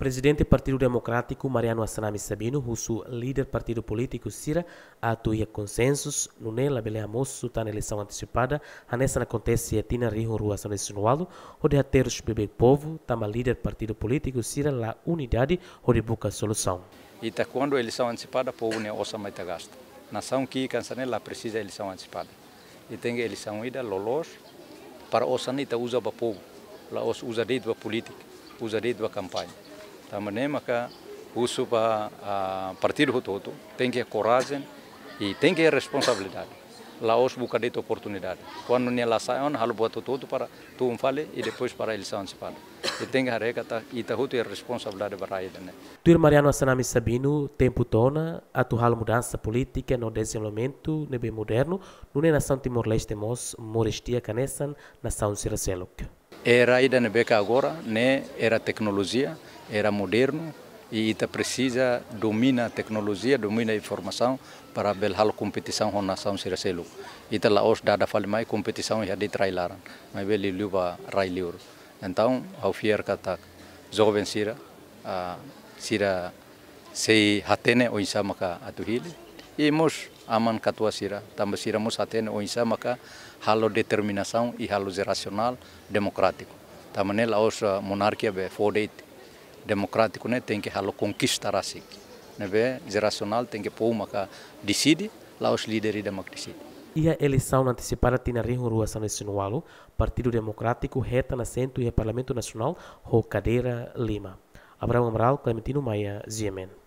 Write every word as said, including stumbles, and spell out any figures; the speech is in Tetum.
Prezidente Partidu Demokrátiku Mariano Assanami Sabino husu líder partidu polítiku sira atu iha konsensu, nune'e labele hamosu tan eleisaun antesipada hanesan akontese iha tinan rihun rua sanulu-resin-ualu, hodi haterus beibeik povu, tanba líder partidu polítiku sira la unidade hodi buka solusaun. Ita kuandu eleisaun antesipada, povu nia osan mak ita gasta. Nasaun ki'ik hanesan ne'e la presiza eleisaun antesipada. Ita tenke eleisaun ida loloos para osan ita uza ba povu. La'ós uza de'it ba polítika, uza de'it ba kampaña. Tanba ne'e maka husu ba, ah, partidu hotu-hotu tenke korajen i tenke responsabilidade. La'ós buka de'it oportunidade. Kuandu nia la sai ona, halo buat hotu-hotu para tun fali i depois para eleisaun antesipada. I tenke haree katak ita hotu iha responsabilidade ba rai ida-ne'e. Tuir Mariano Assanami Sabino, tempu to'o ona atu halo mudansa polítika no dezenvolvimentu ne'ebé modernu, nune'e nasaun Timor-Leste mós moris di'ak hanesan nasaun sira seluk. Era ida ne'ebé ke agora ne'e era teknolojia, era modernu, i ita presiza domina teknolojia, domina informasaun para bele halo kompetisaun ho nasaun sira seluk. Ita la'ós dada fali mai kompetisaun iha de'it rai laran, maibé liuliu ba rai liur. Entaun, ha'u fiar katak joven sira, ah, sira sei hatene oinsá maka atu hili. I mós aman-katuas sira, tanba sira mós hatene oinsá maka halo determinasaun i halo jerasionál demokrátiku. Tanba ne'e la'ós, ah, monarkia be fó de'it, demokrátiku ne'e tenke halo konkista rasik. Ne'ebé jerasionál tenke povu maka deside, la'ós líder ida mak deside. Iha eleisaun antesipada tinan rihun rua sanulu-resin-ualu, Partidu Demokrátiku hetan asentu iha Parlamentu Nasionál ho kadeira lima. Abrão Amaral, Clementino Maia, G M N.